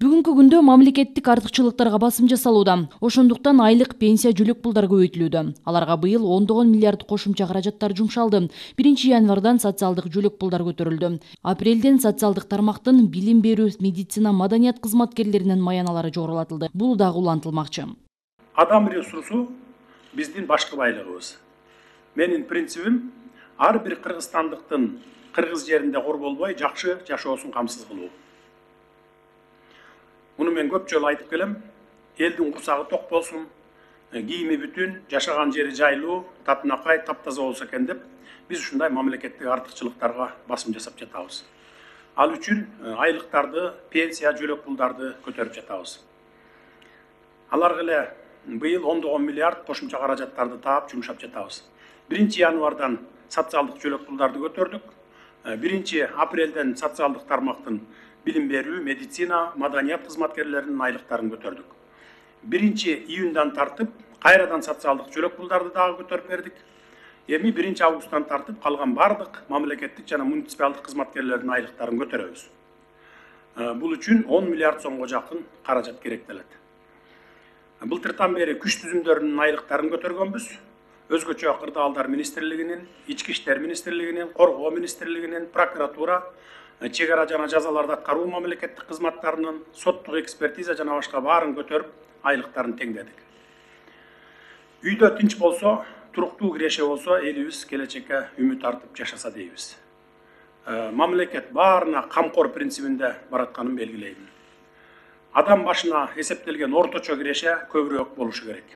Бүгүнкү күндө мамлекеттик артыкчылыктарга басым жасалууда. Ошондуктан айлык пенсия жөлөк пулдар көбөйтүлүүдө. Аларга быйыл 10 миллиард кошумча каражаттар жумшалды. 1-январдан социалдык жөлөк пулдар көтөрүлдү. Апрелден социалдык тармактын билим берүү, медицина, маданият кызматкерлеринин маяналары жогорулатылды. Бул дагы улантылмакчы. Адам ресурсу биздин башкы байлыгыбыз. Менин принцибим ар бир кыргызстандыктын кыргыз жеринде кор болбой жакшы жашоосун камсыз кылуу. Муну мен көп жолу айтып келем. Элдин курсагы ток болсун, кийими бүтүн, жашаган жери жайлуу, татынакай, таптаза болсо экен деп, биз ушундай мамлекеттик артыкчылыктарга басым жасап жатабыз. Ал үчүн айлыктарды, пенсия, жөлөк пулдарды көтөрүп жатабыз. Аларга эле быйыл 10 миллиард кошумча каражаттарды таап жумшап жатабыз. 1-январдан социалдык жөлөк пулдарды көтөрдүк. 1-апрелден социалдык тармактын билим берүү, медицина, маданият кызматкерлеринин айлыктарын көтөрдүк. 1-июндан тартып кайрадан социалдык жөлөк пулдарды дагы көтөрүп бердик. Эми 1-августтан тартып калган бардык мамлекеттик жана муниципалдык кызматкерлердин айлыктарын көтөрөбүз. Бул үчүн 10 миллиард сомго жакын каражат керектелет. Былтыртан бери күч түзүмдөрүнүн айлыктарын көтөргөнбүз. Өзгөчө кырдаалдар министрлигинин, ички иштер министрлигинин, коргоо министрлигинин, прокуратура, чек ара жана жазаларды аткаруу мамлекеттик кызматтарынын, соттук экспертиза жана башка баарын көтөрүп, айлыктарын теңдедик. Үйдө тынч болсо, туруктуу киреше болсо, элибиз келечекке үмүт артып жашаса дейбиз. Мамлекет баарына камкор принцибинде баратканын белгилейм. Адам башына эсептелген орточо киреше көбүрөөк болушу керек.